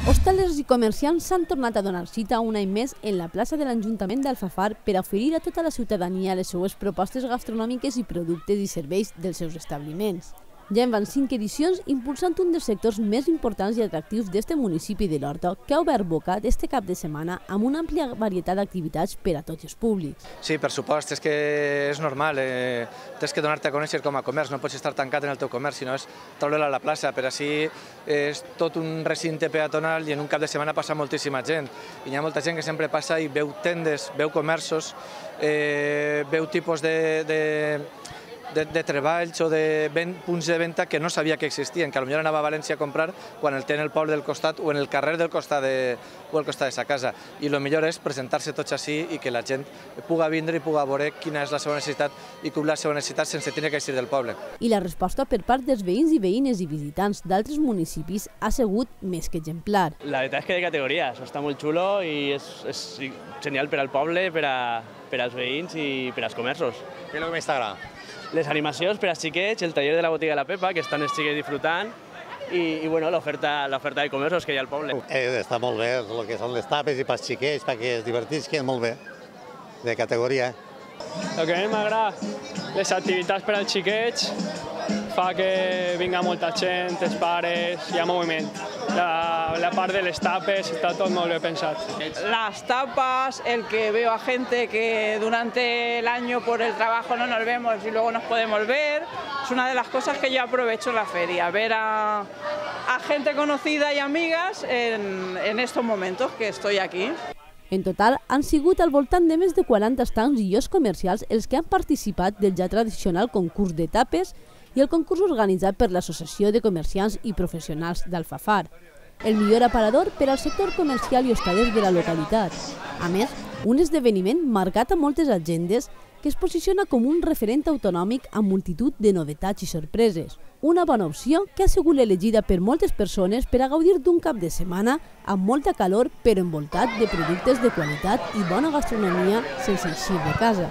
Hostalers i comerciants s'han tornat a donar cita un any més en la plaça de l'Ajuntament d'Alfafar per a oferir a tota la ciutadania les seues propostes gastronòmiques i productes i serveis dels seus establiments. Ja en van 5 edicions impulsant un dels sectors més importants i atractius d'este municipi de l'Horta, que ha obert boca este cap de setmana amb una àmplia varietat d'activitats per a tots els públics. Sí, per supost, és que és normal, tens que donar-te a conèixer com a comerç, no pots estar tancat en el teu comerç, sinó és treure-la a la plaça, per així és tot un recinte peatonal i en un cap de setmana passa moltíssima gent. I hi ha molta gent que sempre passa i veu tendes, veu comerços, veu tipus de treballs o de punts de venda que no sabia que existien, que potser anava a València a comprar quan el té en el poble del costat o en el carrer del costat de sa casa. I el millor és presentar-se tots així i que la gent puga vindre i puga veure quina és la seva necessitat i cobrir la seva necessitat sense tenir que eixir del poble. I la resposta per part dels veïns i veïnes i visitants d'altres municipis ha sigut més que exemplar. La veritat és que de categoria, això està molt xulo i és genial per al poble, per als veïns i per als comerços. Què és el que més t'agrada? Les animacions per als xiquets, el taller de la botiga de la Pepa, que estan els xiquets disfrutant, i bueno, l'oferta de comerços que hi ha al poble. Està molt bé, el que són les tapes i pels xiquets, perquè es divertisquen molt bé, de categoria. El que a mi m'agrada, les activitats per als xiquets, fa que vinga molta gent, els pares, hi ha moviment. La part de les tapes está todo muy bien pensado. Las tapas, el que veo a gente que durante el año por el trabajo no nos vemos y luego nos podemos ver, es una de las cosas que yo aprovecho en la feria, ver a gente conocida y amigas en estos momentos que estoy aquí. En total, han sigut al voltant de més de 40 estands i llocs comercials els que han participat del ja tradicional concurs de tapes i el concurs organitzat per l'Associació de Comerciants i Professionals d'Alfafar, el millor aparador per al sector comercial i hostaler de la localitat. A més, un esdeveniment marcat a moltes agendes que es posiciona com un referent autonòmic amb multitud de novetats i sorpreses. Una bona opció que ha sigut elegida per moltes persones per a gaudir d'un cap de setmana amb molta calor però envoltat de productes de qualitat i bona gastronomia sense eixir de casa.